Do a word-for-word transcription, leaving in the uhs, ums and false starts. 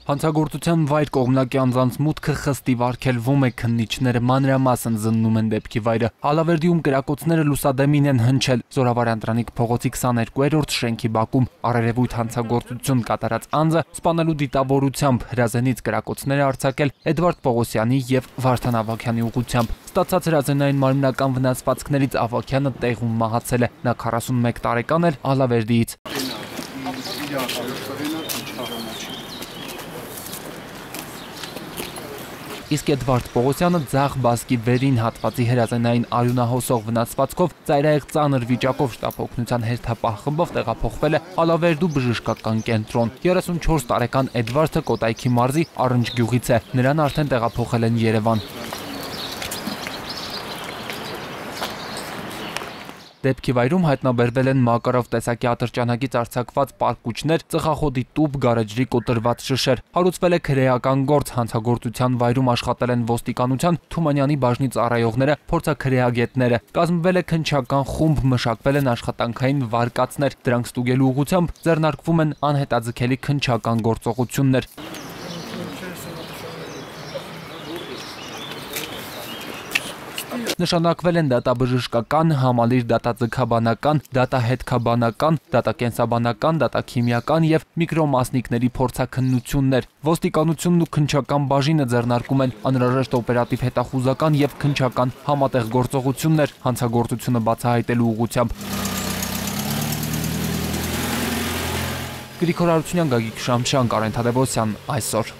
Հանցագործության վայր կողմնակի անձանց մուտքը խստիվ արգելվում է, քննիչները մանրամասն զննում են դեպքի վայրը։ Ալավերդիում կրակոցները լուսադեմին են հնչել Զորավարյան Տրանիկ փողոցի քսաներկուերորդ շենքի բակում։ Առերևույթ հանցագործություն կատարած անձը սպանելու դիտավորությամբ հրազենից կրակոցներ է արձակել Էդվարդ Պողոսյանի և Վարդան Ավագյանի ուղղությամբ։ Ստացած հրազենային մարմնական վնասվածքներից Ավագյանը տեղում մահացել է։ Նա քառասունմեկ տարեկան էր, Ալավերդիից։ Իսկ Էդվարդ Պողոսյանը ձախ բազկի վերին հատվածի հրազենային արյունահոսող վնասվածքով ծայրահեղ ծանր վիճակով շտապօգնության հերթապահ խմբով տեղափոխվել է Ալավերդու բժշկական կենտրոն։ երեսունչորս տարեկան Էդվարդը Կոտայքի մարզի Առնջ գյուղից է։ Նրան արդեն տեղափոխել են Երևան։ Դեպքի վայրում հայտնաբերվել են Մակարով տեսակի ատրճանակից արձակված պարկուճներ, ծխախոտի տուփ, գարեջրի կոտրված շշեր։ Հարուցվել է քրեական գործ, հանցագործության վայրում աշխատել են ոստիկանության Թումանյանի բաժնի ծառայողները, փորձաքրեագետները։ Կազմվել է քննչական խումբ, մշակվել են աշխատանքային վարկածներ։ Դրանք ստուգելու ուղղությամբ ձեռնարկվում են անհետաձգելի քննչական գործողություններ։ Նշանակվել են դատաբժշկական, համալիր դատաձգաբանական, դատահետքաբանական, դատակենսաբանական, դատաքիմիական և միկրոմասնիկների փորձաքննություններ։ Ոստիկանությունն ու քննչական բաժինը ձեռնարկում են անհրաժեշտ օպերատիվ հետախուզական և քննչական համատեղ գործողություններ հանցագործությունը բացահայտելու ուղղությամբ։ Գրիգոր Հարությունյան, Գագիկ Շամշյան, Կարեն Թադևոսյան, այսօր։